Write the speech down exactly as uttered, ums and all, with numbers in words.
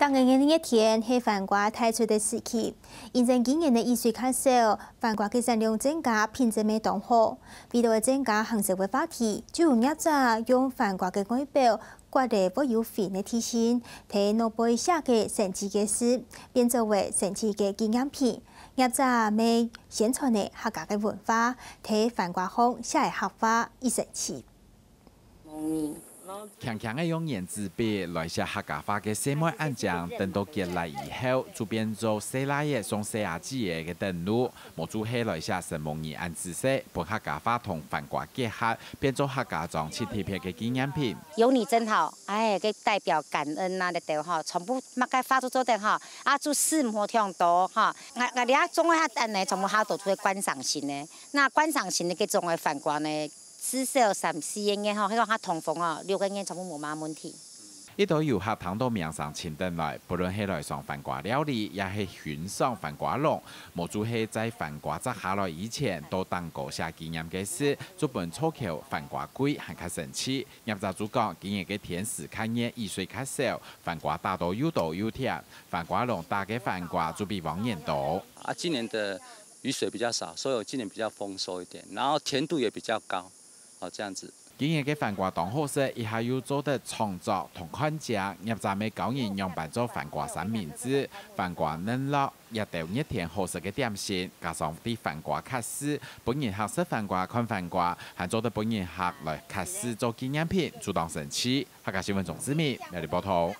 今年个熱天係番瓜大出个時期，因為今年个雨水較少，番瓜个產量增加，品質乜當好。為了增加行銷个話題，就有業者用番瓜个外表，刮了會有雲个地形，在外背寫个神奇个字，變做為神奇个紀念品。業者乜宣傳了客家个文化，在番瓜項寫个客話，異神奇。 強強个用原子筆來寫客家話个細妹恁靚，等到結倈以後，就變做細倈仔送細阿姊仔个等路。無就係來寫承蒙你恁仔細，分客家話同番瓜結合，變做客家庄盡特別个紀念品。有你真好，哎，个代表感恩啊，這兜吼，全部麼个話都做得吼，啊，就事無忒多吼。𠊎𠊎這種个哈，等呢，全部哈都做觀賞性个。那觀賞性个這種个番瓜呢， 至少三四個月吼，該講較通風哦，六個月全部無麼問題。一堆遊客聽到名聲尋等來，不論係來嚐番瓜料理，也係欣賞番瓜籠，無就係在番瓜摘下來以前，到頂高寫紀念个字，就分造橋番瓜季還較生趣。業者就講，今年个天時較熱，雨水較少，番瓜打到又多又甜，番瓜籠打个番瓜就比往年多。啊，今年的雨水比較少，所以我今年比較豐收一點，然後甜度也比較高。 哦，這樣子。今年个番瓜當好食，一下又做得創作同看景，業者乜教人仰般做番瓜三明治、番瓜乳酪，這兜熱天好食个點心，加上對番瓜刻字，分人客食番瓜、看番瓜，還做得分人客來刻字做紀念品，就當生趣。客家新聞鍾志明，苗栗報導。